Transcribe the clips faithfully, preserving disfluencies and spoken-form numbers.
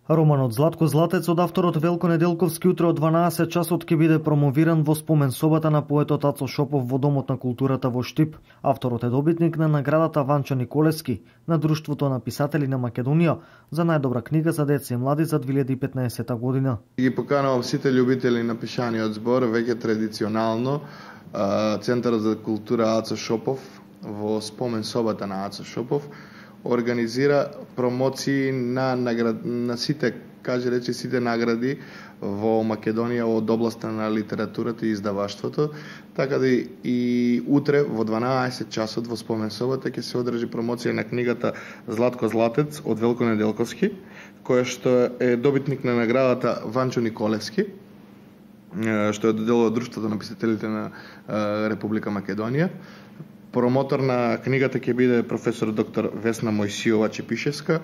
Романот Златко Златец од авторот Велко Неделковски утре од дванаесет часот ќе биде промовиран во спомен собата на поетот Ацо Шопов во Домот на културата во Штип. Авторот е добитник на наградата Ванчо Николевски на Друштвото на писатели на Македонија за најдобра книга за деца и млади за две илјади и петнаесета година. Ги поканувам сите љубители на пишаниот збор, веќе традиционално Центарот за култура Ацо Шопов во спомен собата на Ацо Шопов организира промоции на наград, на сите, каже речи сите награди во Македонија од областа на литературата и издаваштвото, така да и утре во дванаесет часот во спомен собата ќе се одржи промоција на книгата Златко Златец од Велко Неделковски, која што е добитник на наградата Ванчо Николевски, што е доделува Друштвото на писателите на Република Македонија. Промотор на книгата ќе биде професор доктор Весна Мојсиова Чепишевска,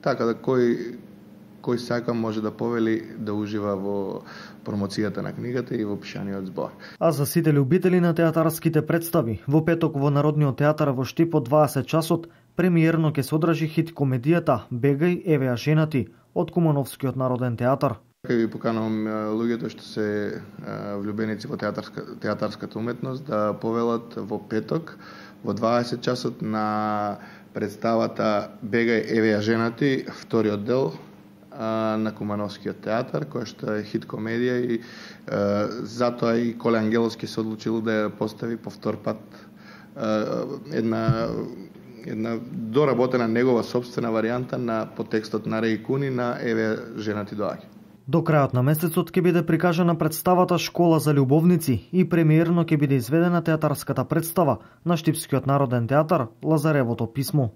така да кој кој сака може да повели да ужива во промоцијата на книгата и во пишаниот збор. А за сите љубители на театарските представи, во петок во Народниот театар во Штип од дваесет часот премиерно ќе се одржи хит комедијата Бегај, еве ја женати од Кумановскиот народен театар. Ке ви поканувам луѓето што се влюбеници во театарска, театарската уметност да повелат во петок во дваесет часот на представата Бегај, еве ја женати, вториот дел на Кумановскиот театар, која што е хит комедија и е, затоа и Коле Ангеловски се одлучил да ја постави повтор пат е, една една доработена негова собствена варијанта на потекстот на Реј Куни на Еве женати доаѓа. До крајот на месецот ќе биде прикажана представата Школа за љубовници и премиерно ќе биде изведена театарската представа на Штипскиот народен театар Лазаревото писмо.